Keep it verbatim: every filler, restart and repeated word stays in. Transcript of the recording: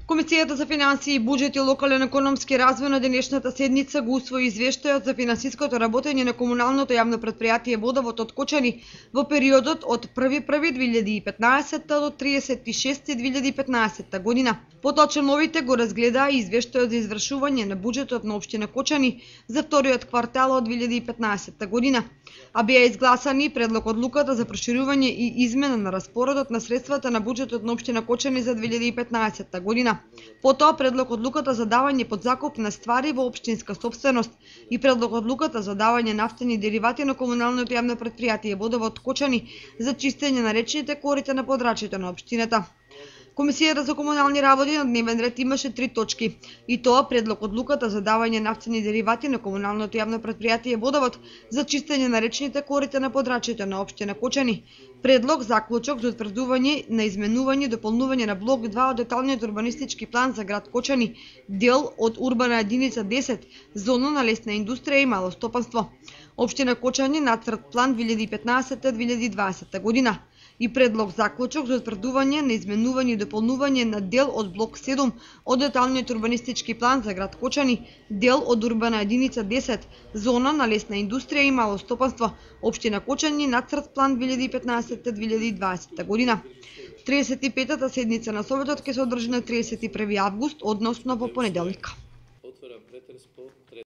Комисијата за финансии, буџет и локален економски развој на денешната седница го усвои извештајот за финансиското работење на комуналното јавно претпријатие Водовод од Кочани во периодот од први први две илјади и петнаесетта до триесет и шести две илјади и петнаесетта година. Поточеновите го разгледаа и извештајот за извршување на буџетот на општина Кочани за вториот квартал од две илјади и петнаесетта година, а беа изгласани предлог одлуката за проширување и измена на распоредот на средствата на буџетот на општина Кочани за две илјади и петнаесетта година. Потоа предлог одлуката за давање под закуп на ствари во општинска сопственост и предлог одлуката за давање нафтени деривати на комуналното јавно претпријатие Водовод Кочани за чистење на речните корита на подрачјето на општината. Комисијата за комунални работи на дневен ред имаше три точки, и тоа предлог одлуката за давање нафтени деривати на комуналното јавно претпријатие Водовод за чистење на речните корита на подрачјето на општина Кочани, предлог заклучок за утврдување на изменување и дополнување на блок два од деталниот урбанистички план за град Кочани, дел од урбана единица десет, зона на лесна индустрија и мало стопанство. Општина Кочани нацрт план две илјади и петнаесетта до две илјади и дваесетта година и предлог заклучок за утврдување на изменување и дополнување на дел од блок седум од деталниот урбанистички план за град Кочани, дел од урбана единица десет, зона на лесна индустрија и мало стопанство, општина Кочани нацрт план две илјади и петнаесетта до две илјади и дваесетта година. триесет и петата седница на Советот ќе се одржи на триесет и први август, односно во понеделник. Отворам претрес по